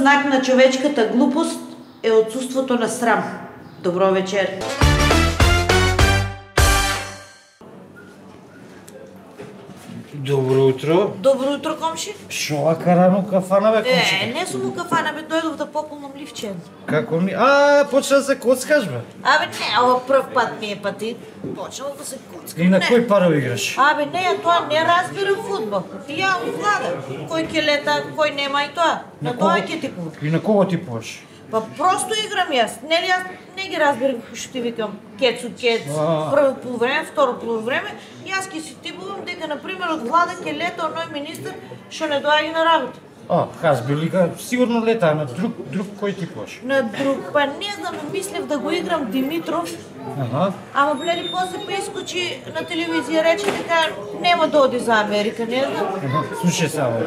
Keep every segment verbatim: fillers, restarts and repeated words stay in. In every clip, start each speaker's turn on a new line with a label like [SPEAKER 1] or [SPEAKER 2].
[SPEAKER 1] знак на човечката глупост е отсутството на срам. Добро вечер.
[SPEAKER 2] Добро утро.
[SPEAKER 1] Добро утро, комши.
[SPEAKER 2] Шо ака рано кафана бе, комши?
[SPEAKER 1] Е, не сум у кафана, бе, дојдов да пополнам ливче.
[SPEAKER 2] Како ми? А, почна да се коцкаш бе.
[SPEAKER 1] Абе, не, ова прв пат ми е пати. Почнал да се коцкам.
[SPEAKER 2] И на
[SPEAKER 1] Не.
[SPEAKER 2] кој паро играш?
[SPEAKER 1] Абе, не, ја тоа не разбирам фудбал. И ја влада. Кој ќе лета, кој нема и тоа. На
[SPEAKER 2] На
[SPEAKER 1] тоа
[SPEAKER 2] кого?
[SPEAKER 1] ќе типувам.
[SPEAKER 2] И на кого ти пош?
[SPEAKER 1] Па просто играм јас. Нели јас не ги разбирам што ти викам кецу кец.
[SPEAKER 2] А.
[SPEAKER 1] Прво полувреме, второ полувреме. Јас ќе си типувам дека на пример од влада ќе лета оној министер што не доаѓа на работа.
[SPEAKER 2] А, Хазби лига сигурно лета на друг друг кој ти пош?
[SPEAKER 1] На друг, па не знам, мислев да го играм Димитров,
[SPEAKER 2] Аха.
[SPEAKER 1] ама бледи после прискочи на телевизија рече дека нема да оди за Америка, не знам.
[SPEAKER 2] Аха. Слушај само.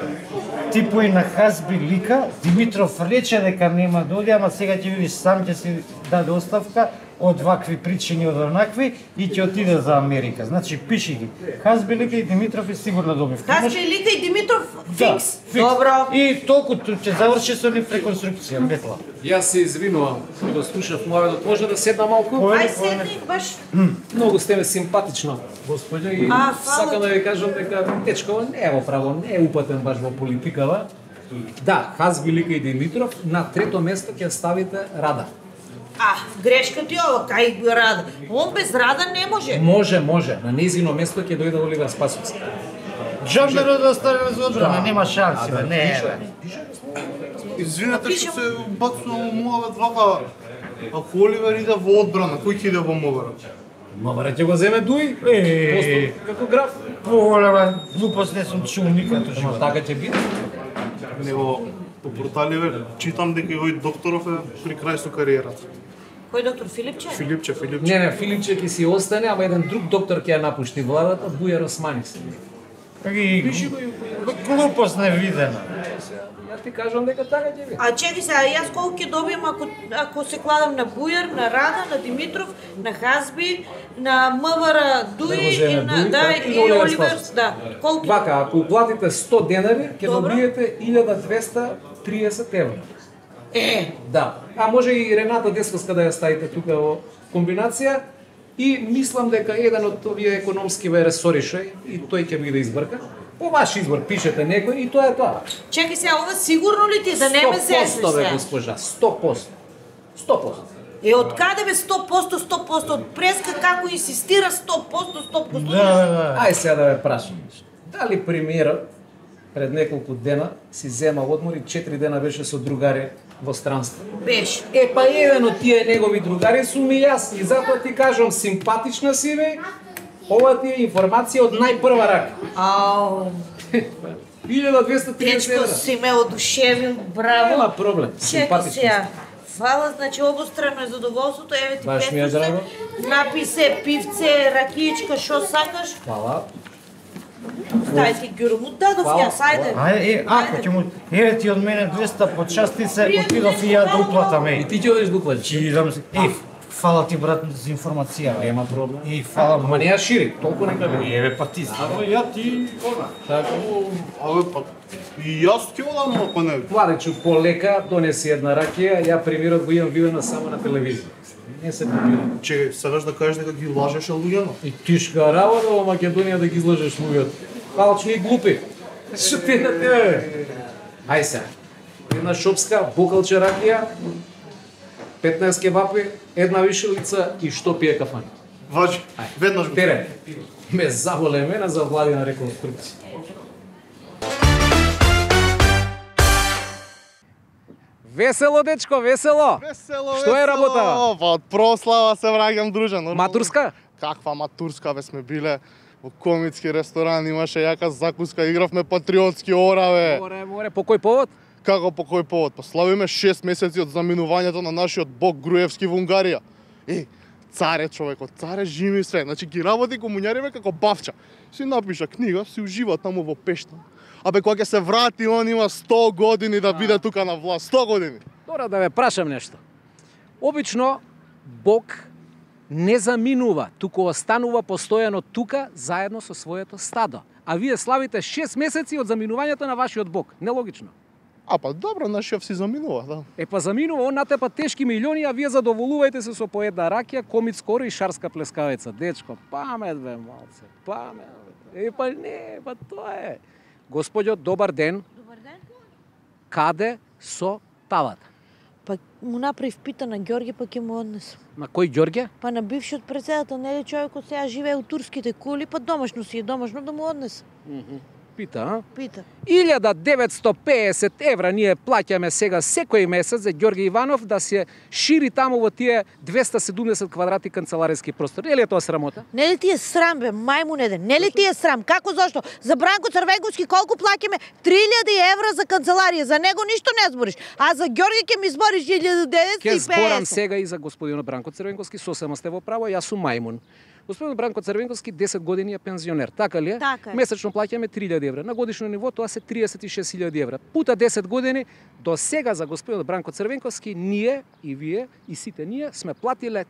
[SPEAKER 2] Типој на Хазби лика, Димитров рече дека нема да оди, ама сега ќе видиш сам ќе си даде оставка од вакви причини, од онакви и ќе отиде за Америка. Значи пиши ги. Хазби лика и Димитров е сигурно добив.
[SPEAKER 1] Хазби лика и Димитров фикс.
[SPEAKER 2] Да,
[SPEAKER 1] Добро.
[SPEAKER 2] И толку ќе заврши со нив реконструкција, Бетла.
[SPEAKER 3] Јас се извинувам, го слушав муаведот. Може да седна малку?
[SPEAKER 2] Кој?
[SPEAKER 1] Ај седни баш.
[SPEAKER 3] Многу сте ме симпатична, господја, и
[SPEAKER 1] А, фала
[SPEAKER 3] сакам да
[SPEAKER 1] ти.
[SPEAKER 3] ви кажам дека дечко не е во право, не е упатен баш во политикава. Да, Хазби лика и Димитров, на трето место ќе ставите Рада.
[SPEAKER 1] А, грешка ти ова, кај го Рада. Он без Рада не може.
[SPEAKER 3] Може, може, на незино место ќе дојде Оливер Спасовски.
[SPEAKER 2] Джамберо да остане за одбрана, нема шанси, бе, не, бе.
[SPEAKER 4] Извинете
[SPEAKER 1] Пишем.
[SPEAKER 4] што се бацува муавет вака. Ако Оливер иде во одбрана, кој ќе иде во Мовера?
[SPEAKER 3] Мавара ќе го земе Дуи,
[SPEAKER 2] Е,
[SPEAKER 3] постап како граф.
[SPEAKER 2] поголема глупост не сум чул никад.
[SPEAKER 3] Ама така ќе биде.
[SPEAKER 4] Него по порталиве читам дека и овој докторов е при крај со кариерата.
[SPEAKER 1] Кој доктор Филипче?
[SPEAKER 4] Филипче, Филипче.
[SPEAKER 3] Не, не, Филипче ќе си остане, ама еден друг доктор ќе ја напушти владата, Бујар Османис.
[SPEAKER 2] И глупост невидена.
[SPEAKER 3] Ја ти кажам дека така ќе биде.
[SPEAKER 1] А чеки сега, јас колку ќе добијам ако, ако се кладам на Бујар, на Рада, на Димитров, на Хазби, на МВР Дуи
[SPEAKER 3] Да го
[SPEAKER 1] и
[SPEAKER 3] земе
[SPEAKER 1] на,
[SPEAKER 3] Дуи,
[SPEAKER 1] да,
[SPEAKER 3] така, и
[SPEAKER 1] и
[SPEAKER 3] на Оливер
[SPEAKER 1] Оливер,
[SPEAKER 3] Спасовски.
[SPEAKER 1] да. Колку?
[SPEAKER 3] Вака, ако уплатите сто денари, ќе
[SPEAKER 1] Добро.
[SPEAKER 3] добиете илјада двесте триесет евра.
[SPEAKER 1] Е,
[SPEAKER 3] Да. А може и Рената Десковска да ја ставите тука во комбинација. И мислам дека еден од овие економски ве ресорише и тој ќе биде избрка. По ваш избор пишете некој и тоа е тоа.
[SPEAKER 1] чекай сега, ова сигурно ли ти да не ме зесеш
[SPEAKER 3] сто бе,
[SPEAKER 1] сега?
[SPEAKER 3] госпожа, сто посто. сто посто.
[SPEAKER 1] Е, од каде бе сто посто, сто посто? Од преска како инсистира сто посто, сто посто?
[SPEAKER 2] Да, да, да.
[SPEAKER 3] Ај сега да ве прашам. Дали премиерот пред неколку дена си зема одмор и четири дена беше со другари во странство?
[SPEAKER 1] Беше.
[SPEAKER 3] Е, па еден од тие негови другари сум и јас. И затоа ти кажам, симпатична си ве, ова ти е информација од најпрва рака.
[SPEAKER 1] Ау,
[SPEAKER 3] илјада двесте триесет
[SPEAKER 1] дечко
[SPEAKER 3] евра.
[SPEAKER 1] си ме одушевил, браво.
[SPEAKER 3] Нема проблем,
[SPEAKER 1] Чекай
[SPEAKER 3] симпатична
[SPEAKER 1] сега. Фала, значи обострано е задоволството, еве ти
[SPEAKER 3] Баш ми е
[SPEAKER 1] петдесет.
[SPEAKER 3] драго.
[SPEAKER 1] Напи се пивце, ракиичка, шо сакаш?
[SPEAKER 3] Фала.
[SPEAKER 1] Дај ти гюрмут, дадов
[SPEAKER 3] Фала,
[SPEAKER 1] јас, ајде.
[SPEAKER 2] Ајде, е, ако ќе му... Еве ти од мене двеста почасти се, отидов и ја да уплатам,
[SPEAKER 3] И
[SPEAKER 2] еј.
[SPEAKER 3] ти ќе одиш да уплатиш.
[SPEAKER 2] Чи идам се... Еј, фала ти, брат, за информација, бе.
[SPEAKER 3] Нема проблем.
[SPEAKER 2] Еј, фала му.
[SPEAKER 3] Ама не ја шири, толку нека биде.
[SPEAKER 2] Еве, па ти си.
[SPEAKER 4] Абе ја ти
[SPEAKER 3] Така.
[SPEAKER 4] Абе па и јас ќе одам, ако не.
[SPEAKER 3] Владечу, полека донеси една ракија, ја премирот го имам видена само на телевизија. Не се попирам.
[SPEAKER 4] Че сакаш да кажеш дека ги лажеше луѓето?
[SPEAKER 3] И тишка работа во Македонија да ги излажеш луѓето. Алчни и глупи. Што ти на тебе? Ај сега. Една шопска, бокалче ракија, петнаесет кебапи, една вишелица и што пие кафан.
[SPEAKER 4] Важи, веднаш го.
[SPEAKER 3] Тере, ме заболе мене за владина реконструкција. Весело, дечко, весело!
[SPEAKER 4] Весело,
[SPEAKER 3] Што е
[SPEAKER 4] весело.
[SPEAKER 3] работа?
[SPEAKER 4] Па од прослава се враќам дружен. нормално.
[SPEAKER 3] Матурска?
[SPEAKER 4] Каква матурска бе сме биле во комитски ресторан, имаше јака закуска, игравме патриотски ора бе.
[SPEAKER 3] Море, море, по кој повод?
[SPEAKER 4] Како по кој повод? Па славиме шест месеци од заминувањето на нашиот бог Груевски во Унгарија. Е, царе човекот, царе живи све. Значи ги работи комуњариве како бавча. Си напиша книга, си ужива таму во пешта. Абе кога ќе се врати, он има сто години да биде тука на власт. сто години.
[SPEAKER 3] Дора да ве прашам нешто. Обично Бог не заминува, туку останува постојано тука заедно со своето стадо. А вие славите шест месеци од заминувањето на вашиот Бог. Нелогично.
[SPEAKER 4] А па добро, нашиот си заминува, да.
[SPEAKER 3] Е па заминува, он натепа тешки милиони, а вие задоволувајте се со по една ракија, комит скоро и шарска плескавица. Дечко, памет бе малце, памет. Е па не, па тоа е. Господјо, добар ден.
[SPEAKER 1] Добар ден.
[SPEAKER 3] Каде со тавата?
[SPEAKER 1] Па му направив пита на Ѓорѓе, па ќе му однесам.
[SPEAKER 3] На кој Ѓорѓе?
[SPEAKER 1] Па на бившиот председател, нели човекот сега живее у турските кули, па домашно си е домашно да му однесам.
[SPEAKER 3] Пита, а?
[SPEAKER 1] Пита.
[SPEAKER 3] илјада деветстотини и педесет евра ние плаќаме сега секој месец за Ѓорѓе Иванов да се шири таму во тие двеста и седумдесет квадрати канцелариски простор. Нели е тоа срамота?
[SPEAKER 1] Нели ти е срам, бе, мајмун еден? Нели ти е срам? Како, зошто? За Бранко Црвенковски колку плаќаме? три илјади евра за канцеларија. За него ништо не збориш. А за Ѓорѓе ќе ми збориш илјада деветстотини
[SPEAKER 3] Ке
[SPEAKER 1] и педесет.
[SPEAKER 3] зборам сега и за господинот Бранко Црвенковски, сосема сте во право, јас сум мајмун. Господин Бранко Црвенковски десет години е пензионер, така ли е?
[SPEAKER 1] Така е.
[SPEAKER 3] Месечно плаќаме три илјади евра. На годишно ниво тоа се триесет и шест илјади евра. Пута десет години, до сега за господин Бранко Црвенковски ние и вие и сите ние сме платиле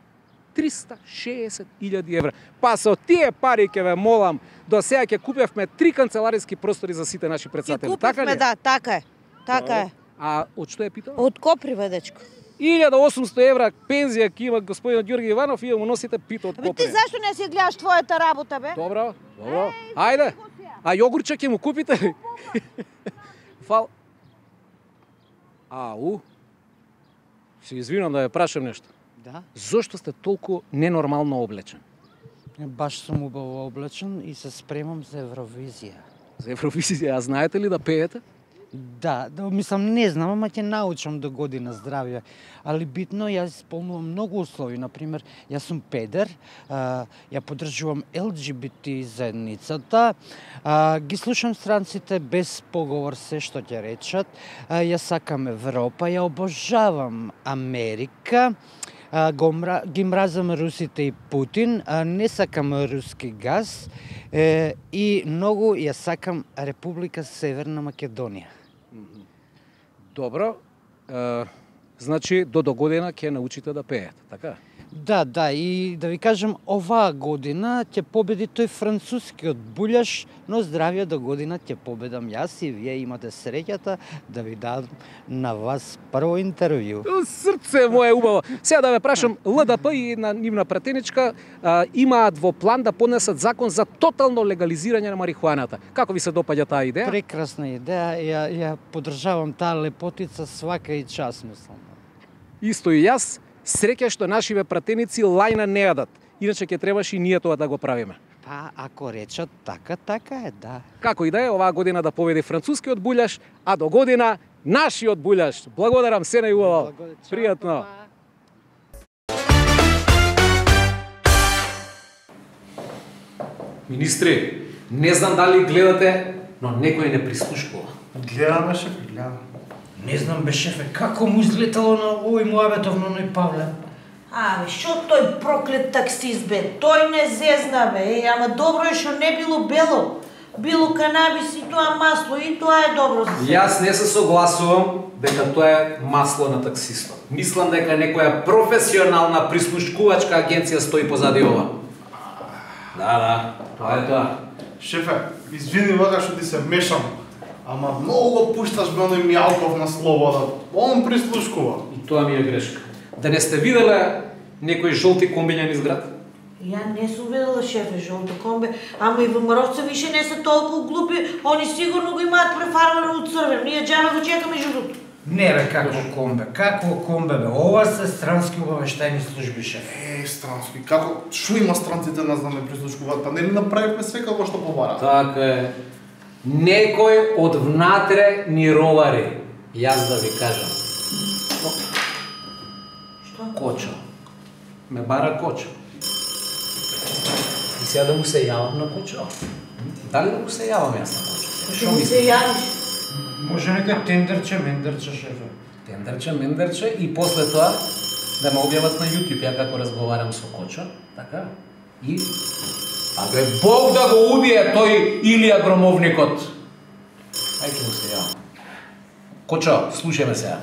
[SPEAKER 3] триста и шеесет илјади евра. Па со тие пари ќе ве молам, до сега ќе купевме три канцелариски простори за сите наши
[SPEAKER 1] Ќе
[SPEAKER 3] претседатели. Така ли?
[SPEAKER 1] купивме, да, така е. Така е.
[SPEAKER 3] А од што е питал?
[SPEAKER 1] Од Коприве, дечко.
[SPEAKER 3] илјада и осумстотини евра пензија ќе има господинот Ѓорѓе Иванов и ја му носите пито од
[SPEAKER 1] Абе ти
[SPEAKER 3] Коприве.
[SPEAKER 1] зашто не си гледаш твојата работа, бе?
[SPEAKER 3] Добро, добро. Ајде. А јогурче ќе му купите ли? Фал. Ау. Се извинам да ја прашам нешто.
[SPEAKER 2] Да.
[SPEAKER 3] Зошто сте толку ненормално облечен?
[SPEAKER 2] Баш сум убаво облечен и се спремам за Евровизија.
[SPEAKER 3] За Евровизија, а знаете ли да пеете?
[SPEAKER 2] Да, да, мислам, не знам, ама ќе научам до година здравје. Али битно, јас исполнувам многу услови. Например, јас сум педер, а, ја поддржувам Ел Џи Би Ти заедницата, а, ги слушам странците без поговор се што ќе речат, а, ја сакам Европа, ја обожавам Америка, а, го мра, ги мразам русите и Путин, а, не сакам руски газ е, и многу ја сакам Република Северна Македонија.
[SPEAKER 3] Добро. Е, значи, до до година ќе научите да пеете, така?
[SPEAKER 2] Да, да, и да ви кажам, оваа година ќе победи тој францускиот буљаш, но здравје до година ќе победам јас и вие имате среќата да ви дадам на вас прво интервју.
[SPEAKER 3] Срце мое убаво. Сега да ве прашам, Л Д П и една нивна пратеничка а, имаат во план да поднесат закон за тотално легализирање на марихуаната. Како ви се допаѓа таа идеја?
[SPEAKER 2] Прекрасна идеја, ја, ја поддржавам таа лепотица свака и час, мислам.
[SPEAKER 3] Исто и јас. Среќа што нашиве пратеници лајна не јадат. Иначе ќе требаше и ние тоа да го правиме.
[SPEAKER 2] Па, ако речат така, така е, да.
[SPEAKER 3] Како и да е, оваа година да победи францускиот буљаш, а до година нашиот буљаш. Благодарам се најубаво. Пријатно. Министри, не знам дали гледате, но некој не прислушкува.
[SPEAKER 5] Гледаме, шефе, гледаме.
[SPEAKER 2] Не знам, бе, шефе, како му излетало на овој муабетов на оној Павле?
[SPEAKER 1] А, бе, шо тој проклет таксист, бе? Тој не зезна, бе. Е, ама добро е што не било бело. Било канабис и тоа масло, и тоа е добро за се.
[SPEAKER 3] Јас не се согласувам дека тоа е масло на таксистот. Мислам дека некоја професионална прислушкувачка агенција стои позади ова. Да, да, тоа е тоа.
[SPEAKER 5] Шефе, извини вака што ти се мешам, ама многу го пушташ бе оној Мијалков на слобода. Он прислушкува.
[SPEAKER 3] И тоа ми е грешка. Да не сте виделе некои жолти комбиња низ град?
[SPEAKER 1] Ја не сум видела, шефе, жолто комбе, ама и ВМРО-вци више не се толку глупи, они сигурно го имаат префармено од црвен. Ние џабе го чекаме жутото.
[SPEAKER 2] Не бе, какво комбе, какво комбе бе, ова се странски обавештајни служби, шеф.
[SPEAKER 5] Е, странски, како, шо има странците нас да не прислушкуваат, па нели направивме све како што побара?
[SPEAKER 3] Така е. Некој од внатре ни ровари. Јас да ви кажам.
[SPEAKER 1] Што?
[SPEAKER 3] Кочо. Ме бара Кочо. И сега да му се јавам на Кочо. Дали да му се јавам јас на Кочо? Сега,
[SPEAKER 1] Што ми се јавиш?
[SPEAKER 2] Може некој тендерче, мендерче, шефе.
[SPEAKER 3] Тендерче, мендерче и после тоа да ме објават на YouTube ја како разговарам со Кочо, така? И абе Бог да го убие тој Илија Громовникот. Ај ќе му се јавам. Кочо, слушаме сега.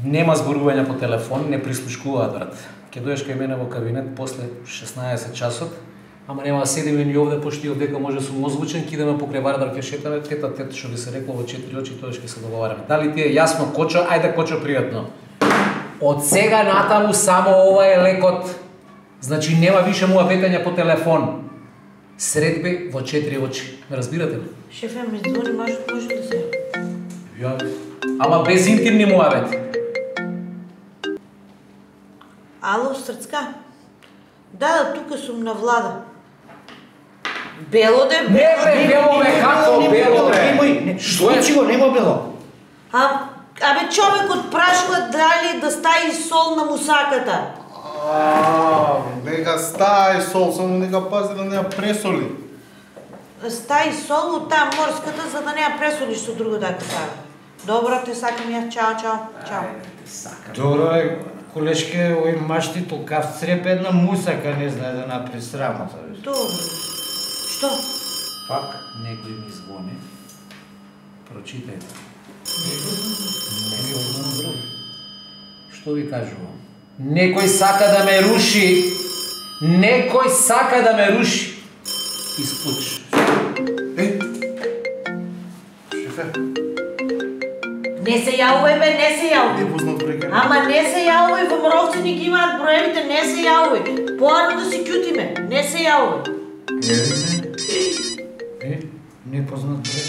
[SPEAKER 3] Нема зборување по телефон, не прислушкуваат, брат. Ќе дојдеш кај мене во кабинет после шеснаесет часот Ама нема да седиме ни овде, пошто и овдека може сум озвучен, ќе идеме покрај Вардар ќе шетаме, тета тета што би се рекло во четири очи, тоа ќе се договараме. Дали ти е јасно, Кочо? Ајде, Кочо, пријатно. Од сега натаму само ова е лекот. Значи нема више муабетања по телефон. Средби во четири очи. Ме разбирате ли?
[SPEAKER 1] Шефе, ми звони, може, може да се.
[SPEAKER 3] Ја. Ама без интимни муабети.
[SPEAKER 1] Ало, Срцка? Да, да, тука сум на Влада. Бело де,
[SPEAKER 3] Не бре, бело бе, како бело бре?
[SPEAKER 2] Немој,
[SPEAKER 3] Што е?
[SPEAKER 2] Случи го, нема бело.
[SPEAKER 1] А, абе, човекот прашува дали да стави сол на мусаката.
[SPEAKER 5] А, нека стај сол, само нека пази да не ја пресоли.
[SPEAKER 1] Стави сол од таа морската, за да не ја пресолиш со друго да така. Добро, те сакам ја. Чао, чао, чао.
[SPEAKER 2] Добро е, колешке, овој машти толкав цреп една мусака не знае да напри срамота.
[SPEAKER 1] Добро. Што?
[SPEAKER 3] Пак некој ми звони. Прочитајте. Некој звони. Што ви кажувам? Некој сака да ме руши. Некој сака да ме руши. Испуч.
[SPEAKER 5] Е, шефе,
[SPEAKER 1] Не се јавувај, бе, не се
[SPEAKER 5] не
[SPEAKER 1] јавувај.
[SPEAKER 5] познат бреке.
[SPEAKER 1] Ама не се јавувај, во Мровци ги имаат броевите, не се јавувај. Поарно да си кјутиме, не се јавувај.
[SPEAKER 2] Е, не познат бре.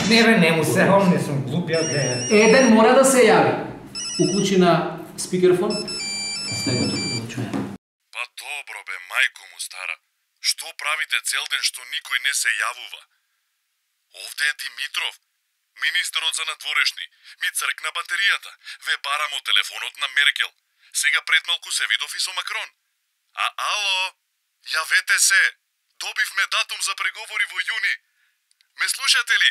[SPEAKER 2] Не бе, не му се, он не сум глуп, ја гледам.
[SPEAKER 3] Еден мора да се јави. Уклучи на спикерфон. Стај го тука да го чуе.
[SPEAKER 6] Па добро бе, мајко му стара. Што правите цел ден што никој не се јавува? Овде е Димитров, министерот за надворешни. Ми цркна батеријата. Ве барам од телефонот на Меркел. Сега пред малку се видов и со Макрон. А ало, јавете се. Добивме датум за преговори во јуни. Ме слушате ли?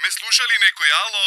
[SPEAKER 6] Ме слуша ли некој, ало?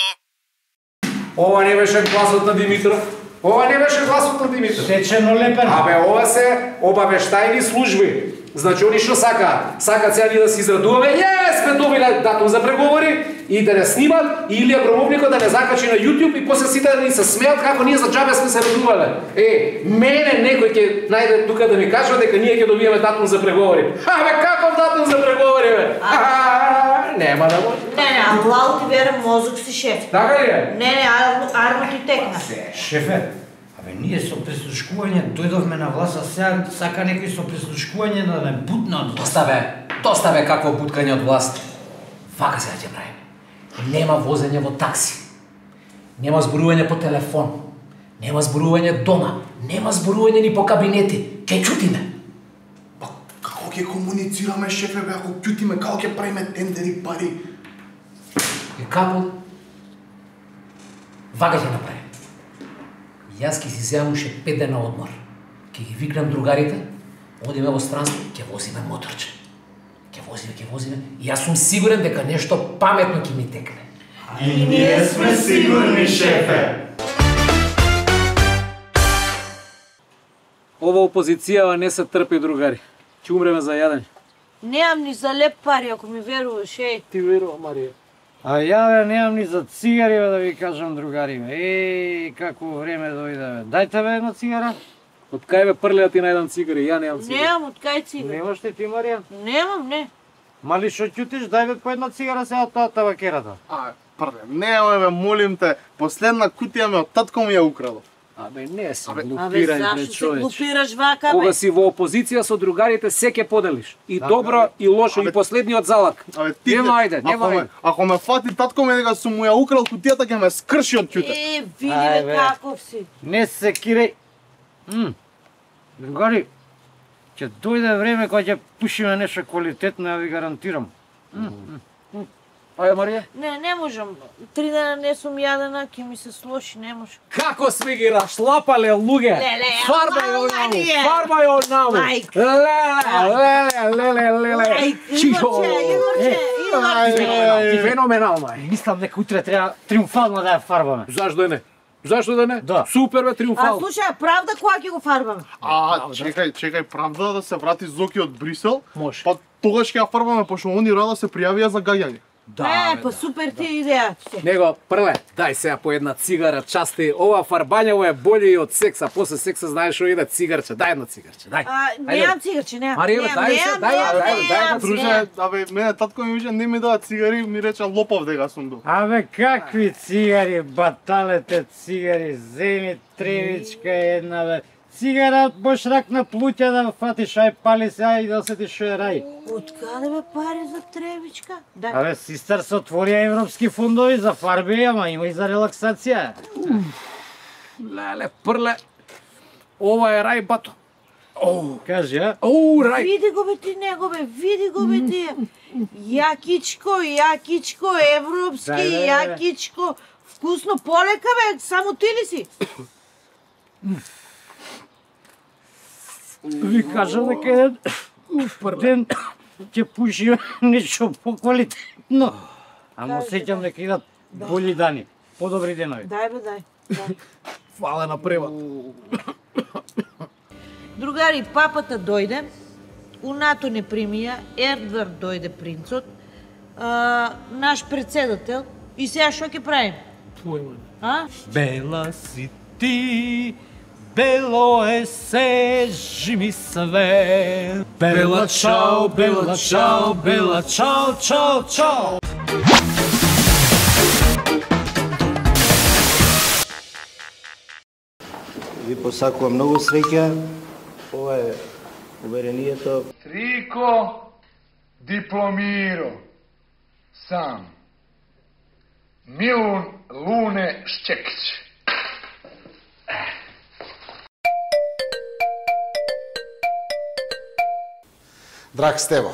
[SPEAKER 3] Ова не беше гласот на Димитров. Ова не беше гласот на Димитров.
[SPEAKER 2] Сечено лепен.
[SPEAKER 3] Абе, ова се обавештајни служби. Значи, они што сакаат? Сакаат сега ние да се израдуваме, е, сме добиле датум за преговори и да не снимат, или Абрамовникот да не закачи на YouTube и после сите да ни се смеат како ние за джабе сме се радувале. Е, мене некој ќе најде тука да ми кажува дека ние ќе добиеме датум за преговори. Абе, каков датум за преговори, бе? Ха-ха, нема да може.
[SPEAKER 1] Не, не, Аллау ти верам, мозок си шеф.
[SPEAKER 3] Така ли е?
[SPEAKER 1] Не, не, арно, арно ти текна.
[SPEAKER 2] Шефе, абе ние со прислушкување дојдовме на власт, а сега сака некој со прислушкување да не бутна од власт.
[SPEAKER 3] Доста бе, доста бе какво буткање од власт. Вака сега ќе правиме. Нема возење во такси. Нема зборување по телефон. Нема зборување дома. Нема зборување ни по кабинети. Ке чутиме.
[SPEAKER 5] Па како ќе комуницираме, шефе, бе, ако ќутиме, како ќе правиме тендери пари?
[SPEAKER 3] И како? Вака ќе направиме. Јас ќе си земам уште пет дена одмор. Ќе ги викнам другарите, одиме во странство, ќе возиме моторче. Ќе возиме, ќе возиме. И јас сум сигурен дека нешто паметно ќе ми текне.
[SPEAKER 5] И ние сме сигурни, шефе.
[SPEAKER 7] Ова опозицијава не се трпи, другари. Ќе умреме за јадење.
[SPEAKER 1] Немам ни за леп пари, ако ми веруваш, еј.
[SPEAKER 7] Ти верува, Марија.
[SPEAKER 2] А ја бе, немам ни за цигари, бе, да ви кажам, другари, бе. Еј, какво време дојде, бе. Дајте, бе, една цигара.
[SPEAKER 7] Од кај бе прлеа ти на еден цигари, ја немам цигари.
[SPEAKER 1] Немам од кај цигар.
[SPEAKER 2] Немаш ли ти, Марија?
[SPEAKER 1] Немам, не.
[SPEAKER 2] Мали шо ќутиш, дај бе по една цигара сега од таа табакерата.
[SPEAKER 5] А, прде, не, бе, молим те, последна кутија ме од татко ми ја украл.
[SPEAKER 7] Абе, не се
[SPEAKER 1] Абе,
[SPEAKER 7] глупирај, бе,
[SPEAKER 1] зашто се
[SPEAKER 7] човече.
[SPEAKER 1] глупираш вака, бе?
[SPEAKER 7] Кога си во опозиција со другарите, се ќе поделиш. И добро, и лошо, и последниот залак.
[SPEAKER 5] Абе, ти,
[SPEAKER 7] Нема ајде, нема
[SPEAKER 5] ако ме,
[SPEAKER 7] ајде.
[SPEAKER 5] ако ме фати татко ми дека сум му ја украл кутијата, ќе ме скрши од ќуте.
[SPEAKER 1] Е, види,
[SPEAKER 2] Ај,
[SPEAKER 1] бе,
[SPEAKER 2] бе.
[SPEAKER 1] каков си.
[SPEAKER 2] Не се киреј. М. Другари, ќе дојде време кога ќе пушиме нешто квалитетно, ја ви гарантирам.
[SPEAKER 7] Ајде, Марија.
[SPEAKER 1] Не, не можам. Три дена не сум јадена, ќе ми се слоши, не можам.
[SPEAKER 7] Како сме ги рашлапале, луѓе?
[SPEAKER 1] Леле,
[SPEAKER 7] Фарбај
[SPEAKER 1] ама,
[SPEAKER 7] од наму,
[SPEAKER 1] Марија.
[SPEAKER 7] фарбај од наму.
[SPEAKER 1] Мајка.
[SPEAKER 7] Леле, леле, леле,
[SPEAKER 1] Ај,
[SPEAKER 7] леле. Чио.
[SPEAKER 1] Игорче, Игорче, Игорче.
[SPEAKER 7] Ти феноменал, мај.
[SPEAKER 2] Мислам дека утре треба триумфално да ја фарбаме.
[SPEAKER 7] Зашто да не? Зашто да не?
[SPEAKER 2] Да.
[SPEAKER 7] Супер бе,
[SPEAKER 1] А
[SPEAKER 7] триумфал.
[SPEAKER 1] слушај, правда кога ќе го фарбаме?
[SPEAKER 5] А, чекај, чекај, правда да се врати Зоки од Брисел?
[SPEAKER 7] Може.
[SPEAKER 5] Па тогаш ќе ја фарбаме, пошто они рада се пријавија за гаѓање.
[SPEAKER 7] Да,
[SPEAKER 1] Е, па супер ти идеја.
[SPEAKER 7] Него, прве, дај сега по една цигара, части. Ова фарбањево е боле и од секса. После секса знаеш што иде cigarче. Дај едно cigarче, дај.
[SPEAKER 1] А, немам цигарче, немам.
[SPEAKER 7] Марија,
[SPEAKER 1] Немам,
[SPEAKER 7] дај се,
[SPEAKER 1] немам,
[SPEAKER 7] дај,
[SPEAKER 1] немам,
[SPEAKER 7] дај, дај,
[SPEAKER 1] немам,
[SPEAKER 4] Друже,
[SPEAKER 1] немам.
[SPEAKER 4] абе, мене татко ми више не ми дава цигари, ми рече лопав дека сум бил.
[SPEAKER 2] Абе, какви цигари, баталете цигари, земи тревичка една, бе. Цигара бош рак на плуќа да фатиш, ај пали се, ај да осетиш што е рај.
[SPEAKER 1] Од каде бе пари за тревичка? Да.
[SPEAKER 2] Абе, систер, се отворија европски фондови за фарби, ама има и за релаксација.
[SPEAKER 7] Леле, прле. Ова е рај, бато. Оу,
[SPEAKER 2] Кажи, а?
[SPEAKER 7] оу, рај.
[SPEAKER 1] Види го бе ти него бе, види го бе ти. Јакичко, јакичко, европски,
[SPEAKER 2] Да, да, да.
[SPEAKER 1] јакичко. Вкусно, полека бе, само ти ли си?
[SPEAKER 2] Ви кажам дека еден ден ќе пуши нешто поквалитетно. Ама сеќам дека идат бољи дани, подобри денови.
[SPEAKER 1] Дај бе, дај. дај.
[SPEAKER 7] Фале на превод.
[SPEAKER 1] Другари, папата дојде, унато не примија, Ердвард дојде принцот, а, наш председател, и сега што ќе правим?
[SPEAKER 7] Појма.
[SPEAKER 1] А?
[SPEAKER 8] Бела си ти, бело е се, жими све. Бела чао, бела чао, бела чао, чао, чао.
[SPEAKER 9] Ви посакувам многу среќа. Ова е уверението.
[SPEAKER 10] Трико дипломиро сам. Милун Луне Шчекич.
[SPEAKER 11] Драг Стево,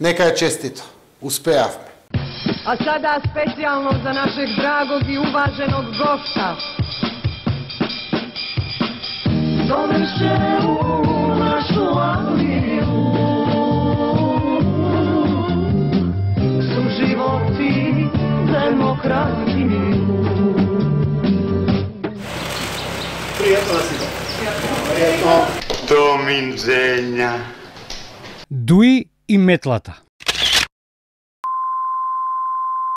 [SPEAKER 11] нека е честито. Успеавме.
[SPEAKER 12] A sada specijalno za našeg dragog i uvaženog gosta. Doneše u našu Angliju su životi demokratiju.
[SPEAKER 11] Пријатно да си го. Пријатно. Доминџења.
[SPEAKER 2] Дуи и метлата.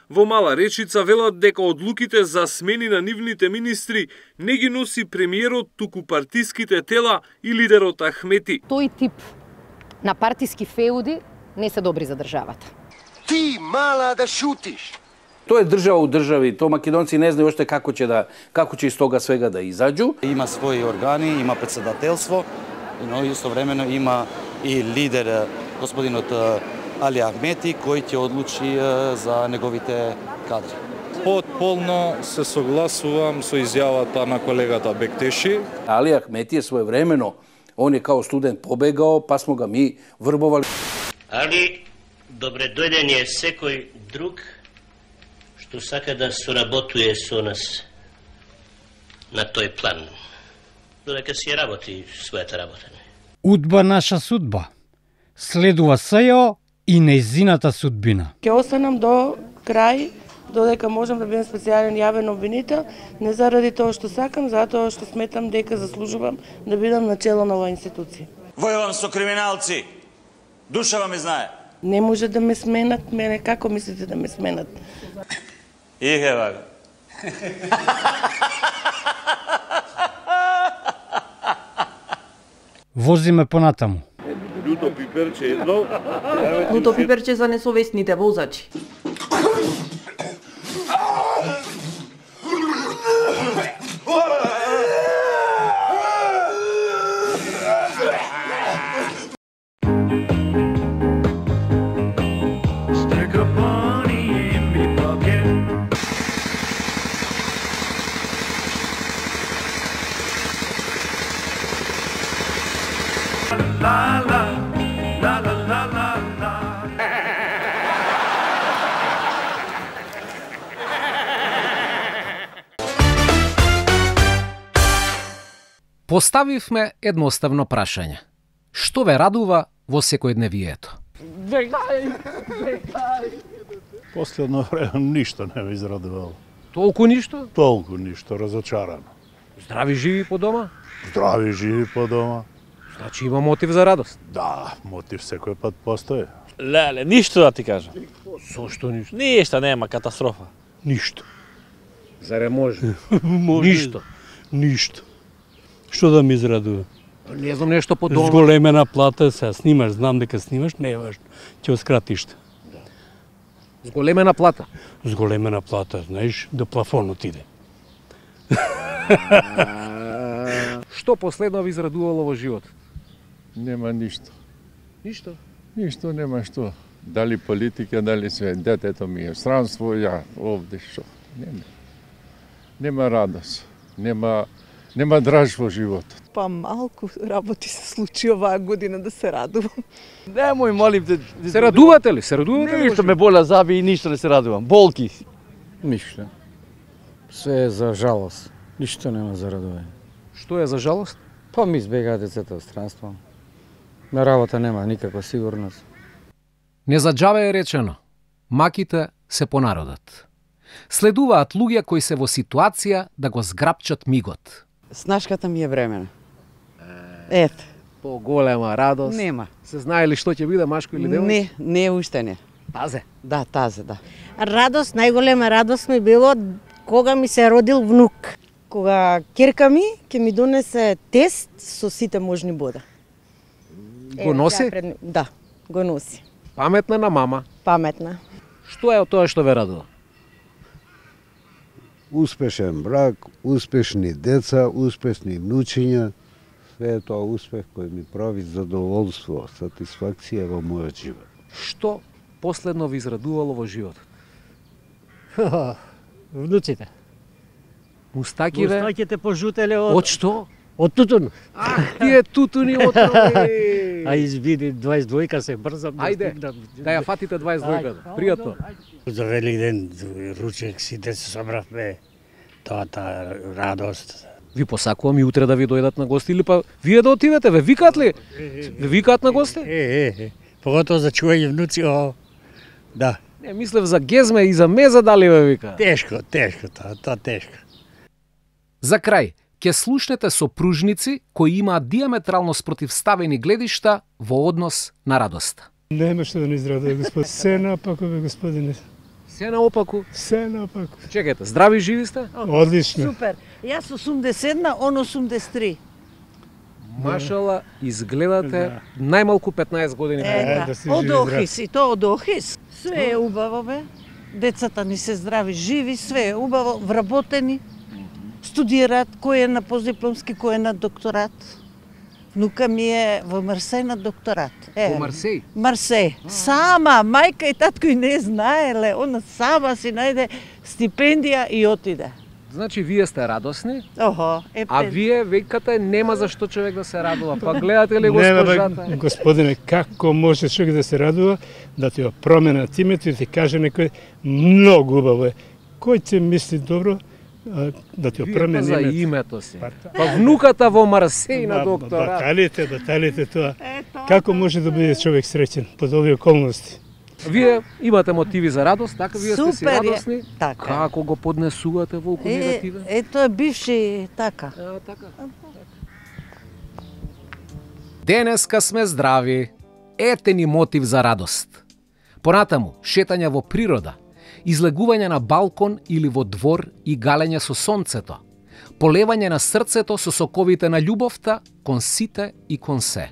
[SPEAKER 13] Во Мала Речица велат дека одлуките за смени на нивните министри не ги носи премиерот, туку партиските тела и лидерот Ахмети.
[SPEAKER 14] Тој тип на партиски феуди не се добри за државата.
[SPEAKER 15] Ти, мала, да шутиш!
[SPEAKER 7] Тоа е држава у држави, тоа македонци не знаат уште како ќе да како ќе из тога свега да изаđу.
[SPEAKER 16] Има своји органи, има председателство, но истовремено има и лидер господинот Али Ахмети кој ќе одлучи за неговите кадри.
[SPEAKER 17] Потполно се согласувам со изјавата на колегата Бектеши.
[SPEAKER 7] Али Ахмети е своевремено, он е као студент побегал, па смо га ми врбовали.
[SPEAKER 18] Али добре дојден е секој друг што сака да соработуе со нас на тој план. Додека си работи својата работа.
[SPEAKER 2] Удба наша судба. Следува СЈО и нејзината судбина.
[SPEAKER 19] Ќе останам до крај, додека можам да бидам специјален јавен обвинител, не заради тоа што сакам, затоа што сметам дека заслужувам да бидам на чело на оваа институција.
[SPEAKER 20] Војувам со криминалци. Душава ме знае.
[SPEAKER 19] Не може да ме сменат, мене како мислите да ме сменат?
[SPEAKER 20] Ихе, бага.
[SPEAKER 2] Возиме понатаму.
[SPEAKER 21] Луто пиперче едно.
[SPEAKER 22] Луто пиперче за несовесните возачи.
[SPEAKER 8] La la la la la la la.
[SPEAKER 3] Поставивме едноставно прашање. Што ве радува во секојдневието?
[SPEAKER 23] Вегај, вегај.
[SPEAKER 24] Последно време ништо не ме израдувало.
[SPEAKER 3] Толку ништо?
[SPEAKER 24] Толку ништо, разочарано.
[SPEAKER 3] Здрави живи по дома?
[SPEAKER 24] Здрави живи по дома.
[SPEAKER 3] Значи има мотив за радост?
[SPEAKER 24] Да, мотив секој пат постои.
[SPEAKER 1] Леле, ништо да ти кажам.
[SPEAKER 13] Зошто ништо?
[SPEAKER 1] Ништо, нема катастрофа.
[SPEAKER 13] Ништо. Заре може?
[SPEAKER 24] Може.
[SPEAKER 13] Ништо.
[SPEAKER 24] Ништо. Што да ми израдува?
[SPEAKER 13] Не знам нешто по дома.
[SPEAKER 24] Зголемена плата, се снимаш, знам дека снимаш, не е важно. Ќе оскратиш.
[SPEAKER 13] Зголемена плата?
[SPEAKER 24] Зголемена плата, знаеш, до плафонот иде.
[SPEAKER 13] Што последно ви израдувало во живот?
[SPEAKER 4] Нема ништо.
[SPEAKER 13] Ништо?
[SPEAKER 4] Ништо нема што. Дали политика, дали све. Детето ми е странство, ја овде што. Нема. Нема радост. Нема, нема драж во животот.
[SPEAKER 5] Па малку работи се случи оваа година да се радувам.
[SPEAKER 1] Немој, молим те.
[SPEAKER 13] Се радувате ли? Се радувате ли?
[SPEAKER 1] Ништо ме боля заби и ништо не се радувам. Болки.
[SPEAKER 6] Ништо. Се е за жалост. Ништо нема за радување.
[SPEAKER 13] Што е за жалост?
[SPEAKER 6] Па ми избегаа децата од странство. На работа нема никаква сигурност.
[SPEAKER 7] Не за џабе е речено, маките се по народот. Следуваат луѓе кои се во ситуација да го зграпчат мигот.
[SPEAKER 25] Снашката ми е времена. Ето.
[SPEAKER 13] По-голема радост.
[SPEAKER 25] Нема.
[SPEAKER 13] Се знае ли што ќе биде, машко или девојче?
[SPEAKER 25] Не, не уште не.
[SPEAKER 13] Тазе?
[SPEAKER 25] Да, тазе, да.
[SPEAKER 26] Радост, најголема радост ми било кога ми се родил внук. Кога керка ми ќе ми донесе тест со сите можни бода.
[SPEAKER 13] Го носи?
[SPEAKER 26] Пред... Да, го носи.
[SPEAKER 13] Паметна на мама.
[SPEAKER 26] Паметна.
[SPEAKER 13] Што е од тоа што ве радува?
[SPEAKER 27] Успешен брак, успешни деца, успешни внучиња. Све е тоа успех кој ми прави задоволство, сатисфакција во мојот живот.
[SPEAKER 13] Што последно ви израдувало во животот?
[SPEAKER 28] Внуците.
[SPEAKER 13] Мустакиве?
[SPEAKER 28] Мустаките пожутеле од...
[SPEAKER 13] Од што?
[SPEAKER 28] Од тутун.
[SPEAKER 13] Ах, тие тутуни отрови!
[SPEAKER 28] А избиди дваесет двојка се брзам.
[SPEAKER 13] Ајде, да ја фатите дваесет двојката. Пријатно.
[SPEAKER 28] За Великден, ручек, сите се собравме. Тоа та радост.
[SPEAKER 13] Ви посакувам и утре да ви дојдат на гости или па вие да отидете, ве викаат ли? Ве викаат на гости?
[SPEAKER 28] Е, е, е. Поготово за чување внуци, о, да.
[SPEAKER 13] Не, мислев за гезме и за меза дали ве викаат.
[SPEAKER 28] Тешко, тешко, тоа, тоа тешко.
[SPEAKER 7] За крај, ќе слушнете сопружници кои имаат диаметрално спротивставени гледишта во однос на радоста.
[SPEAKER 24] Нема што да не израдува, господин. Се напако, бе, господине.
[SPEAKER 13] Се наопаку?
[SPEAKER 24] Се напаку.
[SPEAKER 13] Чекајте, здрави живи сте?
[SPEAKER 24] Одлично.
[SPEAKER 5] Супер. Јас осумдесет една, он осумдесет три.
[SPEAKER 13] Машала, изгледате најмалку петнаесет години.
[SPEAKER 5] Е, да. Од Охис, и то од Охис. Све е убаво, бе. Децата ни се здрави, живи, све е убаво, вработени. Студираат, кој е на постдипломски, кој е на докторат. Внука ми е во Марсеј на докторат.
[SPEAKER 13] Е, во Марсеј?
[SPEAKER 5] Марсеј. Сама, мајка и татко и не знаеле. Она сама си најде стипендија и отиде.
[SPEAKER 13] Значи, вие сте радосни,
[SPEAKER 5] Охо, е
[SPEAKER 13] а вие викате нема за што човек да се радува. Па гледате ли госпожата?
[SPEAKER 24] Нема, господине, како може човек да се радува, да ти ја променат името и ти каже некој многу убаво е. Кој ќе мисли добро, да ти ја промени
[SPEAKER 13] името. Вие за името си. Па внуката во Марсеј на докторат.
[SPEAKER 24] Баталите, баталите тоа. Како може да биде човек среќен под овие околности?
[SPEAKER 13] Вие имате мотиви за радост, така вие сте си радосни.
[SPEAKER 5] Така.
[SPEAKER 13] Како го поднесувате волку негативен?
[SPEAKER 5] Е, тоа е бивши така.
[SPEAKER 13] А, така.
[SPEAKER 7] Денеска сме здрави. Ете ни мотив за радост. Понатаму, шетање во природа, излегување на балкон или во двор и галење со сонцето, полевање на срцето со соковите на љубовта кон сите и кон се.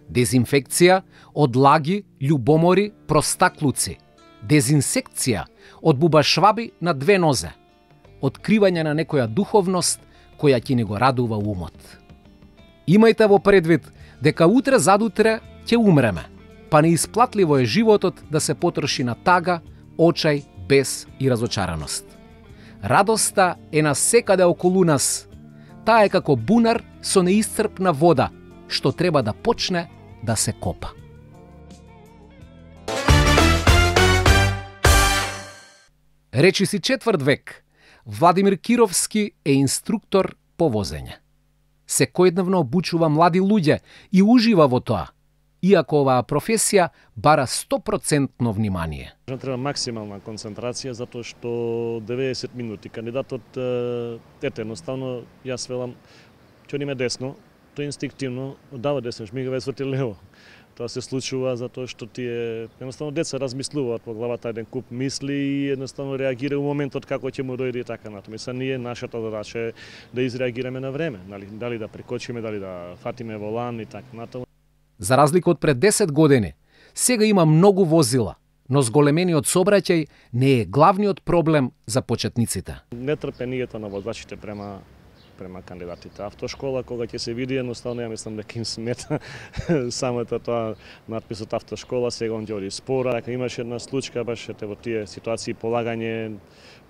[SPEAKER 7] Дезинфекција од лаги, љубомори, простаклуци. Дезинсекција од бубашваби на две нозе. Откривање на некоја духовност која ќе ни го радува умот. Имајте во предвид дека утре задутре ќе умреме, па неисплатливо е животот да се потроши на тага, очај, бес и разочараност. Радоста е насекаде околу нас. Таа е како бунар со неисцрпна вода, што треба да почне да се копа. Речи си четврт век, Владимир Кировски е инструктор по возење. Секојдневно обучува млади луѓе и ужива во тоа, иако оваа професија бара сто процентно внимание.
[SPEAKER 17] Треба максимална концентрација, затоа што деветдесет минути кандидатот, ете, едноставно, јас велам, ќе одиме десно, тој инстинктивно дава десно, жмигава и сврти лево. Тоа се случува затоа што тие едноставно деца размислуваат во главата еден куп мисли и едноставно реагира у моментот како ќе му дојде и така натаму. Мисля, ние нашата задача е да изреагираме на време, нали, дали да прекочиме, дали да фатиме волан и така натаму.
[SPEAKER 7] За разлика од пред десет години, сега има многу возила, но зголемениот сообраќај не е главниот проблем за почетниците.
[SPEAKER 17] Нетрпението на возачите према према кандидатите. Автошкола, кога ќе се види, едноставно ја мислам дека им смета самото тоа надписот автошкола, сега он ќе оди спора. Дека имаше една случка, баш ете во тие ситуации, полагање,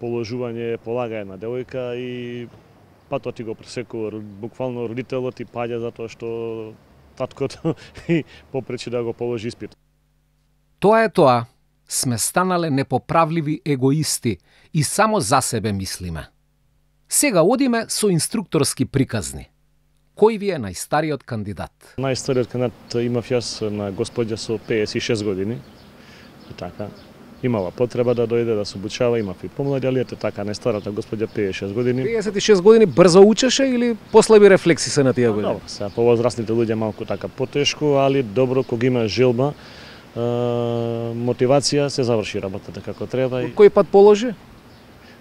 [SPEAKER 17] положување, полага една девојка и патот ти го пресекува, буквално родителот ти паѓа затоа што таткото и попречи да го положи испит.
[SPEAKER 7] Тоа е тоа. Сме станале непоправливи егоисти и само за себе мислиме. Сега одиме со инструкторски приказни. Кој ви е најстариот кандидат?
[SPEAKER 17] Најстариот кандидат имав јас на господја со пеесет и шест години. И така, имала потреба да дојде да се обучава, имав и помлади, али ете така, најстарата господја пеесет и шест години.
[SPEAKER 7] пеесет и шест години брзо учеше или послаби рефлекси се на тие години?
[SPEAKER 17] Добро, сега повозрастните луѓе малку така потешко, али добро кога има желба, е, мотивација, се заврши работата како треба. И...
[SPEAKER 7] Кој пат положи?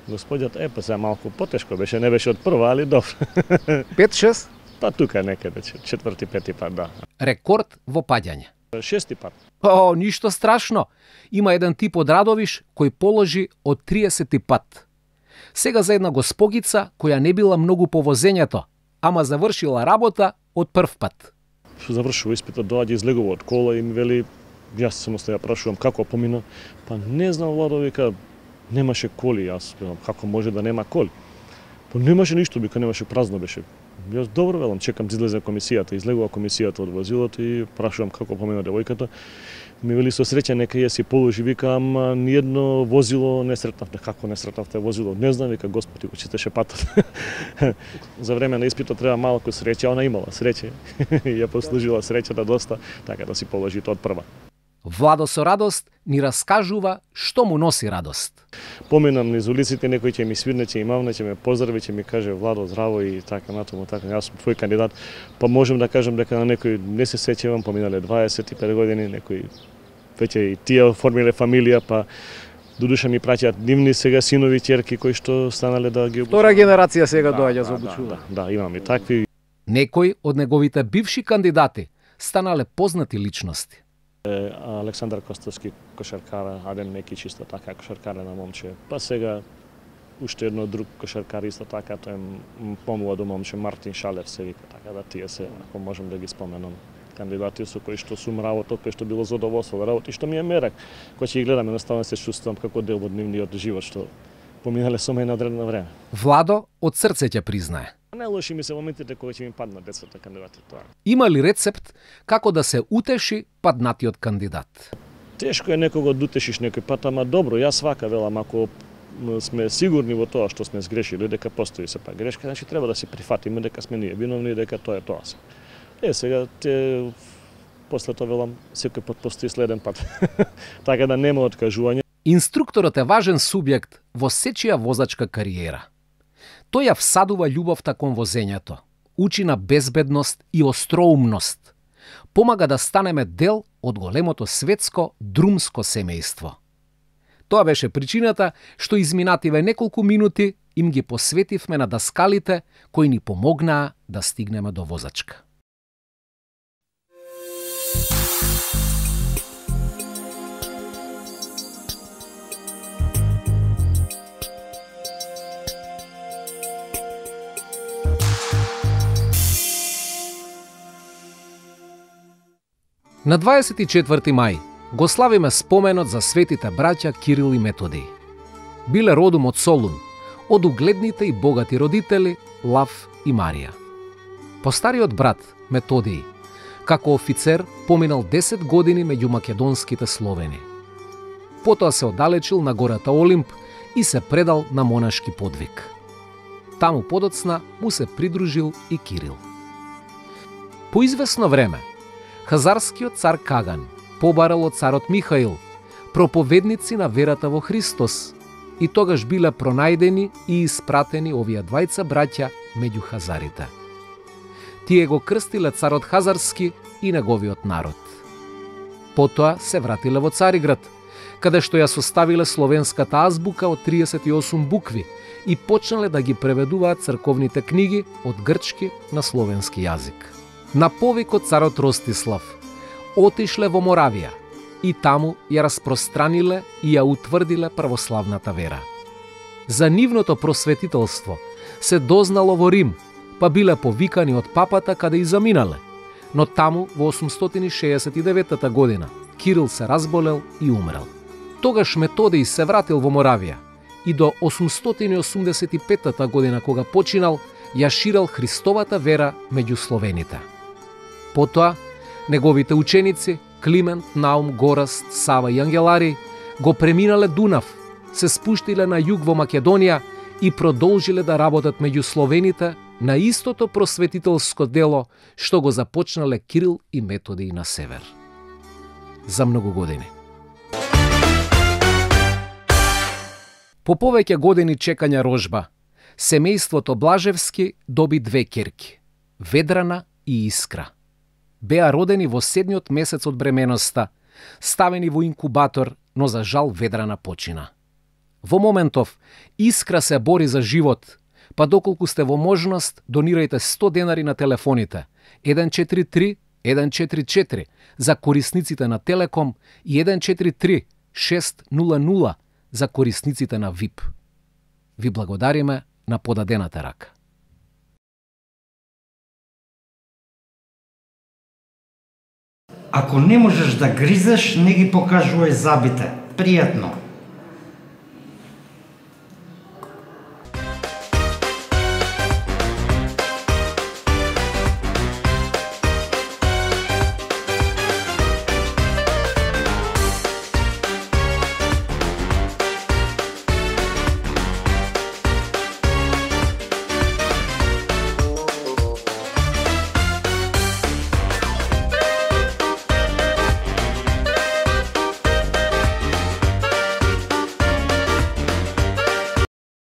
[SPEAKER 17] Господјот, е, па сега малку потешко беше, не беше од прва, али добро.
[SPEAKER 7] пет шест?
[SPEAKER 17] Па тука некаде, четврти, пети пат, да.
[SPEAKER 7] Рекорд во паѓање.
[SPEAKER 17] Шести пат.
[SPEAKER 7] О, ништо страшно. Има еден тип од Радовиш кој положи од триесети пат. Сега за една госпогица која не била многу по возењето, ама завршила работа од прв пат.
[SPEAKER 17] Што завршува испитот, доаѓа излегува од кола и ми вели, јас само се ја прашувам како помина, па не знам, Владо, вика, немаше коли, јас како може да нема коли. Па немаше ништо, вика, немаше, празно беше. Јас добро велам, чекам да излезе комисијата, излегува комисијата од возилото и прашувам како помина девојката. Ми вели со среќа нека ја си положи, вика, ама ниедно возило не сретнавте. Како не сретнавте возило? Не знам, вика, Господи го читаше патот. За време на испитот треба малку среќа, она имала среќа. Ја послужила среќата доста, така да си положи тоа од прва.
[SPEAKER 7] Владо со радост ни раскажува што му носи радост.
[SPEAKER 17] Поминам низ улиците, некој ќе ми свирне, ќе ми мавне, ќе ме поздрави, ќе ми каже Владо, здраво и така натаму, така, јас сум твој кандидат. Па можем да кажем дека на некој не се сеќавам, поминале дваесет и пет години, некој веќе и тие оформиле фамилија, па додуша ми праќаат нивни сега синови, ќерки кои што станале да ги обучуваат.
[SPEAKER 7] Втора генерација сега
[SPEAKER 17] да,
[SPEAKER 7] доаѓа
[SPEAKER 17] да,
[SPEAKER 7] за обучување.
[SPEAKER 17] Да, да, да, имам и такви.
[SPEAKER 7] Некои од неговите бивши кандидати станале познати личности.
[SPEAKER 17] Александар Костовски, кошаркар, Адем Мекич исто така, кошаркарена момче. Па сега уште едно друг кошаркар исто така, тој е помладо момче, Мартин Шалев се вика, така да тие се, ако можем да ги споменам, кандидати со кои што сум работел, кои што било задоволство да работи, што ми е мерак. Кога ќе ги гледам, едноставно се чувствувам како дел од нивниот живот што поминале со мене одредено време.
[SPEAKER 7] Владо од срце ќе признае.
[SPEAKER 17] Не лоши ми се моментите кога ќе ми паднат децата кандидати тоа.
[SPEAKER 7] Има ли рецепт како да се утеши паднатиот кандидат?
[SPEAKER 17] Тешко е некого да утешиш некој пат, ама добро, јас свака велам, ако сме сигурни во тоа што сме сгрешили, дека постои се па грешка, значи треба да се прифатиме дека сме ние виновни, дека тоа е тоа се. Е, сега те после тоа велам, секој пат постои следен пат. Така да нема откажување.
[SPEAKER 7] Инструкторот е важен субјект во сечија возачка кариера. Тој ја всадува љубовта кон возењето, учи на безбедност и остроумност, помага да станеме дел од големото светско друмско семејство. Тоа беше причината што изминативе неколку минути им ги посветивме на даскалите кои ни помогнаа да стигнеме до возачка. На дваесет и четврти мај го славиме споменот за светите браќа Кирил и Методий. Биле родом од Солун, од угледните и богати родители Лав и Марија. Постариот брат Методий, како офицер, поминал десет години меѓу македонските Словени. Потоа се оддалечил на гората Олимп и се предал на монашки подвиг. Таму подоцна му се придружил и Кирил. По известно време, хазарскиот цар Каган побарал од царот Михаил проповедници на верата во Христос и тогаш биле пронајдени и испратени овие двајца браќа меѓу хазарите. Тие го крстиле царот Хазарски и неговиот народ. Потоа се вратиле во Цариград, каде што ја составиле словенската азбука од триесет и осум букви и почнале да ги преведуваат црковните книги од грчки на словенски јазик. На повик од царот Ростислав отишле во Моравија и таму ја распространиле и ја утврдиле православната вера. За нивното просветителство се дознало во Рим, па биле повикани од папата каде и заминале, но таму во осумстотини шеесет и деветата година Кирил се разболел и умрел. Тогаш Методий се вратил во Моравија и до осумстотини осумдесет и петата година кога починал, ја ширел Христовата вера меѓу словените. Потоа, неговите ученици Климент, Наум, Гораст, Сава и Ангелари го преминале Дунав, се спуштиле на југ во Македонија и продолжиле да работат меѓу словените на истото просветителско дело што го започнале Кирил и Методий на север. За многу години. По повеќе години чекања рожба, семејството Блажевски доби две ќерки – Ведрана и Искра. Беа родени во седмиот месец од бременоста, ставени во инкубатор, но за жал Ведрана почина. Во моментов, Искра се бори за живот, па доколку сте во можност, донирајте сто денари на телефоните еден четири три еден четири четири за корисниците на Телеком и еден четири три шест нула нула за корисниците на ВИП. Ви благодариме на подадената рака.
[SPEAKER 2] Ако не можеш да гризеш, не ги покажувај забите. Пријатно.